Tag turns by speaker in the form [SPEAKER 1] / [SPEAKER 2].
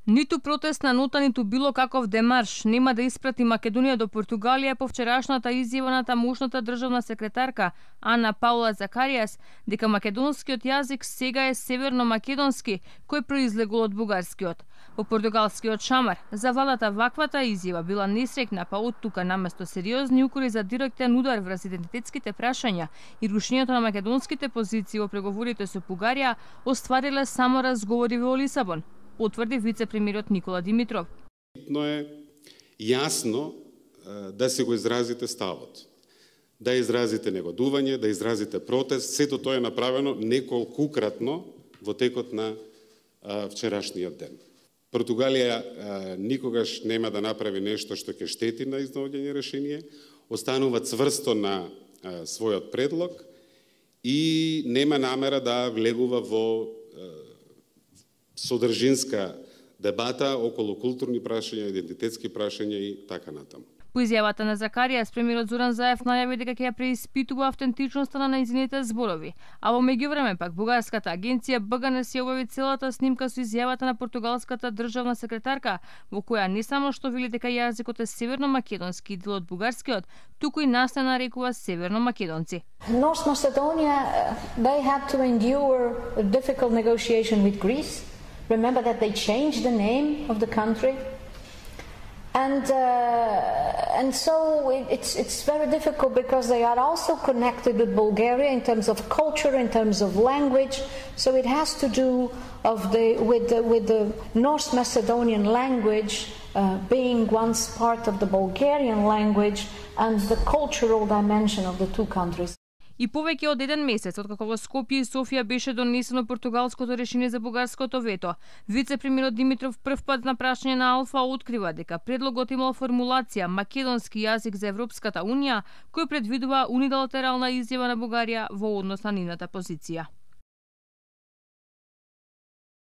[SPEAKER 1] Ниту протестна нота, ниту било каков демарш нема да испрати Македонија до Португалија по вчерашната изјава на тамошната државна секретарка Ана Паула Закаријас дека македонскиот јазик сега е северно-македонски, кој произлегол од бугарскиот. По португалскиот шамар, за владата ваквата изјава била несрекна, па од тука наместо сериозни укори за директен удар врз идентитетските прашања и рушењето на македонските позиции во преговорите со Бугарија, оствариле само разговори во Лисабон, потврди вице-премиерот Никола Димитров.
[SPEAKER 2] Битно е јасно да се го изразите ставот, да изразите негодување, да изразите протест. Сето тоа е направено неколкукратно во текот на вчерашниот ден. Португалија никогаш нема да направи нешто што ќе штети на изнаоѓање решение, останува цврсто на својот предлог и нема намера да влегува во содржинска дебата околу културни прашања, идентитетски прашања и така натаму.
[SPEAKER 1] По изјавата на Закаријас, премиерот Зоран Заев најави дека ќе ја преиспитува автентичноста на нејзините зборови, а во меѓувреме пак бугарската агенција БГНС ја објави целата снимка со изјавата на португалската државна секретарка, во која не само што вели дека јазикот е северно-македонски дел од бугарскиот, туку и нас не нарекува северно-македонци.
[SPEAKER 3] North Macedonia, they had to endure a difficult negotiation with Greece. Remember that they changed the name of the country. And so it's very difficult because they are also connected with Bulgaria in terms of culture, in terms of language. So it has to do with the North Macedonian language being once part of the Bulgarian language and the cultural dimension of the two countries.
[SPEAKER 1] И повеќе од еден месец, откако во Скопје и Софија беше донесено португалското решение за бугарското вето, вице-премиерот Димитров првпат на прашање на Алфа открива дека предлогот имал формулација македонски јазик за Европската унија, кој предвидува унилатерална изјава на Бугарија во однос на нивната позиција.